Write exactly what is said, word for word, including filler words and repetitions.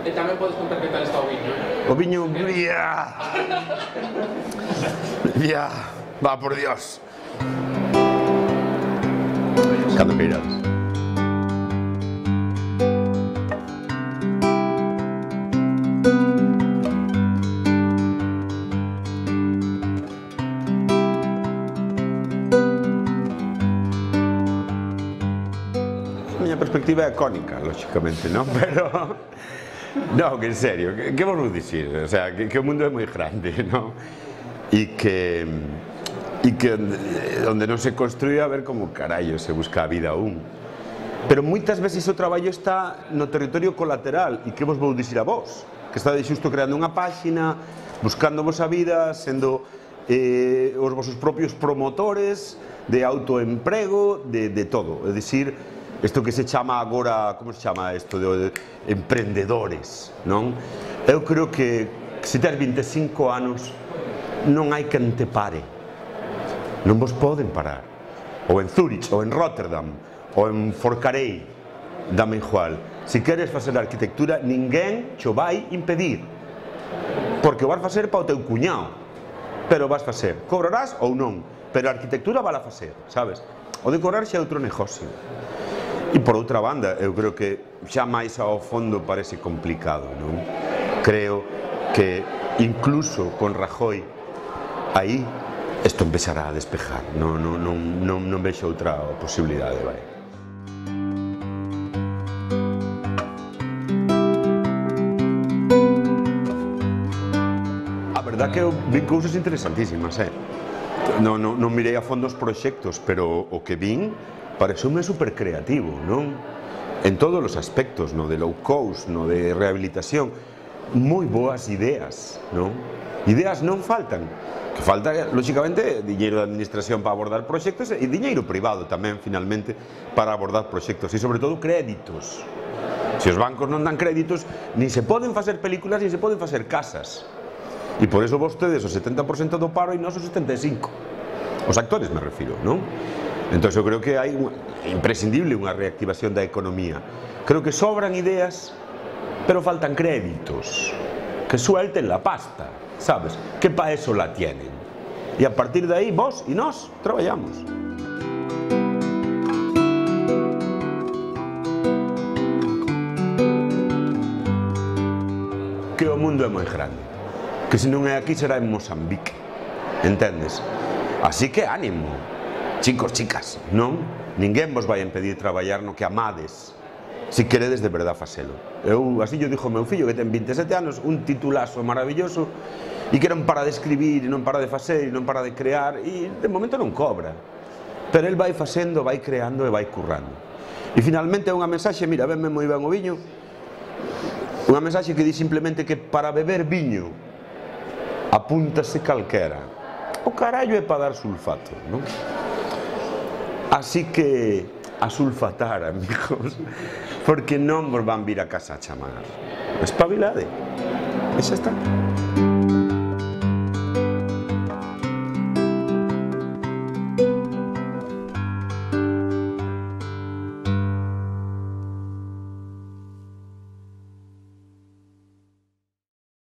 E tamén podes contar que tal está o viño. O viño... ¡Ya! ¡Ya! Va, por Dios. Cando queirades. A miña perspectiva é cónica, lógicamente, non? Pero... Non, que en serio, que, que vos vou dicir? O sea, que, que o mundo é moi grande, non? E que... E que onde non se construía, a ver como carallo se busca a vida aún. Pero moitas veces o traballo está no territorio colateral. E que vos vou dicir a vos? Que estades xusto creando unha páxina, buscando vos a vida, sendo eh, os vosos propios promotores de autoemprego, de, de todo. É dicir, isto que se chama agora, como se chama isto, de, de emprendedores, non? Eu creo que se tes vinte e cinco anos non hai quen te pare, non vos poden parar, ou en Zúrich, ou en Rotterdam, ou en Forcarei, dame igual. Se queres facer arquitectura, ninguén cho vai impedir, porque o vas facer para o teu cuñado, pero vas facer, cobrarás ou non, pero a arquitectura vas a facer, sabes? O de cobrar xa é outro negocio. E por outra banda, eu creo que xa máis ao fondo parece complicado, non? Creo que incluso con Rajoy aí isto empezará a despejar, non, non, non, non, non vexo outra posibilidade, vai. A verdad que eu vi cousas interesantísimas, eh? Non, non, non mirei a fondo os proxectos, pero o que vin pareceume super creativo, non? En todos os aspectos, no de low cost, no de rehabilitación, moi boas ideas, non? Ideas non faltan, que falta, lógicamente, diñeiro de administración para abordar proxectos e diñeiro privado tamén, finalmente, para abordar proxectos e, sobre todo, créditos. Se os bancos non dan créditos, nin se poden facer películas, nin se poden facer casas. E por eso vostedes o setenta por cento do paro e nós o setenta e cinco por cento. Os actores me refiro, non? Entón, eu creo que hai imprescindible unha reactivación da economía. Creo que sobran ideas, pero faltan créditos. Que suelten la pasta, sabes? Que pa eso la tienen. E a partir de aí, vos e nós traballamos. Que o mundo é moi grande. Que se non é aquí será en Mozambique. Entendes? Así que ánimo. Chicos, chicas, non? Ninguén vos vai impedir traballar no que amades, se queredes de verdad facelo. Eu, así yo dixo meu fillo, que ten vinte e sete anos, un titulazo maravilloso, e que non para de escribir, non para de facer, non para de crear, e de momento non cobra. Pero el vai facendo, vai creando e vai currando. E finalmente é unha mensaxe, mira, venme moi ben o viño, unha mensaxe que di simplemente que para beber viño apúntase calquera. O carallo é para dar sulfato, non? Así que a sulfatar, amigos, porque non vos van vir a casa a chamar. Espabilade. E xa está.